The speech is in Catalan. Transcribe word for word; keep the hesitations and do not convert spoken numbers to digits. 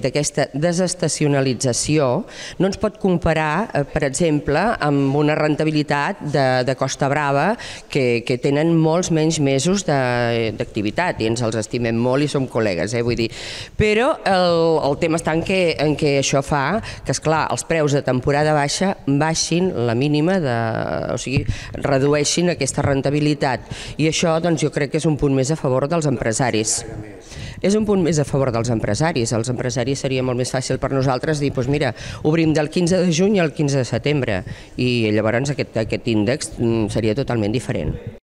d'aquesta desestacionalització no ens pot comparar, per exemple, amb una rendibilitat de, de Costa Brava que, que tenen molts menys mesos d'activitat i ens els estimem molt i som col·legues, eh, vull dir. Però el, el tema està en què, en què això fa que, esclar, els preus de temporada baixa baixin la mínima, de, o sigui, redueixin aquesta rendibilitat i això doncs, jo crec que és un punt més a favor dels empresaris. És un punt més a favor dels empresaris. Els empresaris seria molt més fàcil per nosaltres dir, doncs mira, obrim del quinze de juny al quinze de setembre i llavors aquest, aquest índex seria totalment diferent.